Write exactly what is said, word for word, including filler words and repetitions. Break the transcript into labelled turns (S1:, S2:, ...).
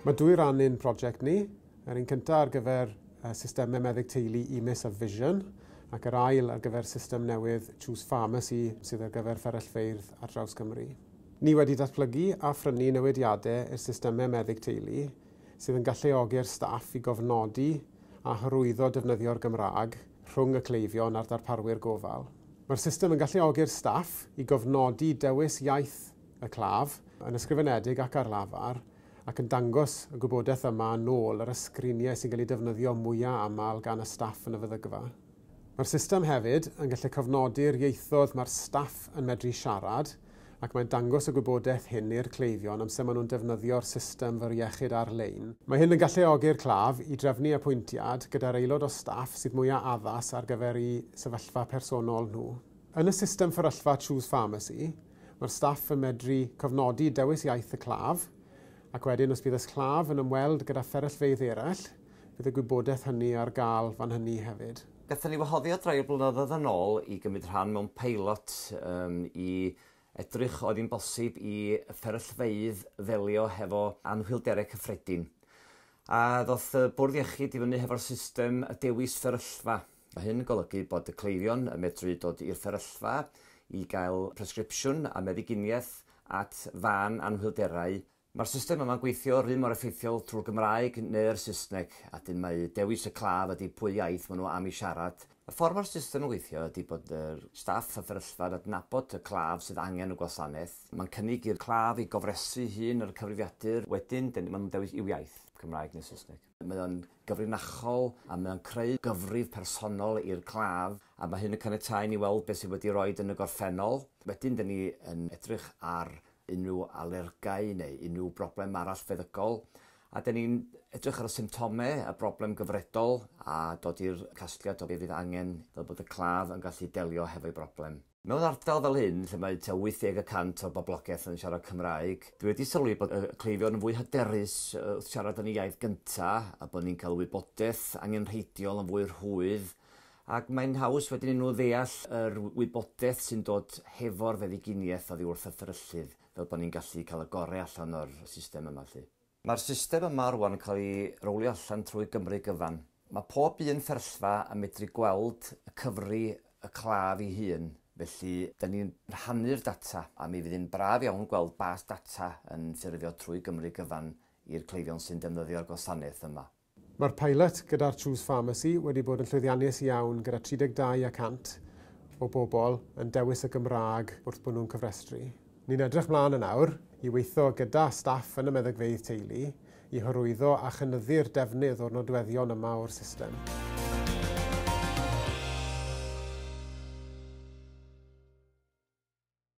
S1: Mae dwy ran i'n prosiect ni. Yr un cyntaf ar gyfer systemau meddyg teulu E M I S a Vision, ac yr ail ar gyfer system newydd Choose Pharmacy sydd ar gyfer fferyllfeydd ar draws Cymru. Ni wedi datblygu a phrynu newidiadau i'r systemau meddyg teulu sydd yn galluogi'r staff i gofnodi a hyrwyddo defnyddio'r Gymraeg rhwng y cleifion a'r darparwyr gofal. Mae'r system yn galluogi'r staff i gofnodi dewis iaith y claf yn ysgrifenedig ac ar lafar, ac yn dangos y gwybodaeth yma nôl ar y sgriniau sy'n cael eu defnyddio mwyaf aml gan y staff yn y feddygfa. Mae'r system hefyd yn gallu cofnodi'r ieithoedd mae'r staff yn medru siarad, ac mae'n dangos y gwybodaeth hyn i'r cleifion amser maen nhw'n defnyddio'r system fer iechyd ar-lein. Mae hyn yn galluogi'r claf i drefnu apwyntiad gyda'r aelod o staff sydd mwyaf addas ar gyfer eu sefyllfa personol nhw. Yn y system fferyllfa Choose Pharmacy, mae'r staff yn medru cofnodi dewis iaith y claf, ac wedyn os bydd y claf yn ymweld gyda fferyllfeydd eraill, bydd y gwybodaeth hynny ar gael fan hynny hefyd.
S2: Gathon ni wahoddiad rai o'r blynyddoedd yn ôl i gymryd rhan mewn peilot um, i edrych oedd hi'n bosib i fferyllfeydd ddelio hefo anhwylderau cyffredin. A ddoth y Bwrdd Iechyd i fyny hefo'r system y dewis fferyllfa. Mae hyn yn golygu bod y cleifion yn medru dod i'r fferyllfa i gael presgripsiwn a meddyginiaeth at fan anhwylderau. Mae'r system yma'n gweithio yr un mor effeithiol trwy'r Gymraeg neu'r Saesneg, a dyn mae dewis y claf ydy pwy iaith maen nhw am i siarad. Y ffordd mae'r system yn gweithio ydy bod y staff y fferyllfa'n adnabod y claf sydd angen y gwasanaeth. Mae'n cynnig i'r claf i gofrestru hun ar y cyfrifiadur, wedyn maen nhw'n dewis i'w iaith, Cymraeg neu Saesneg. Mae o'n gyfrinachol a mae o'n creu gyfrif personol i'r claf, a mae hyn yn caniatáu ni weld beth sydd wedi roed yn y gorffennol. Wedyn, dyn ni yn edrych ar unrhyw alergau neu unrhyw broblem arall feddygol. A dyn ni'n edrych ar y symptomau, y broblem gyfredol, a dod i'r casgliad o beth fydd angen fel bod y claf yn gallu delio hefo'i broblem. Mewn ardal fel hyn, lle mae tua wyth deg y cant o'r boblogaeth yn siarad Cymraeg, dwi wedi sylwi bod y cleifion yn fwy hyderus wrth siarad yn ei iaith gyntaf, a bod ni'n cael wybodaeth angenrheidiol yn fwy rhwydd, ac mae'n haws wedyn i nhw ddeall yr wybodaeth sy'n dod hefo'r feddyginiaeth oddi wrth y fferyllydd, fel bod ni'n gallu cael y gorau allan o'r system yma. Lly. Mae'r system yma rwan yn cael ei rowlio allan trwy Gymru gyfan. Mae pob un fferyllfa yn medru gweld y cyfri y claf ei hun, felly da ni'n rhannu'r data, a mi fydd hi'n braf iawn gweld bas data yn ffurfio trwy Gymru gyfan i'r cleifion sy'n defnyddio'r gwasanaeth yma.
S1: Mae'r pilot gyda'r Choose Pharmacy wedi bod yn llwyddiannus iawn gyda tri deg dau y cant o bobl yn dewis y Gymraeg wrth bod nhw'n cyfrestru. Ni'n edrych mlaen yn awr i weithio gyda staff yn y meddygfeydd teulu i hyrwyddo a chynyddu'r defnydd o'r nodweddion yma o'r system.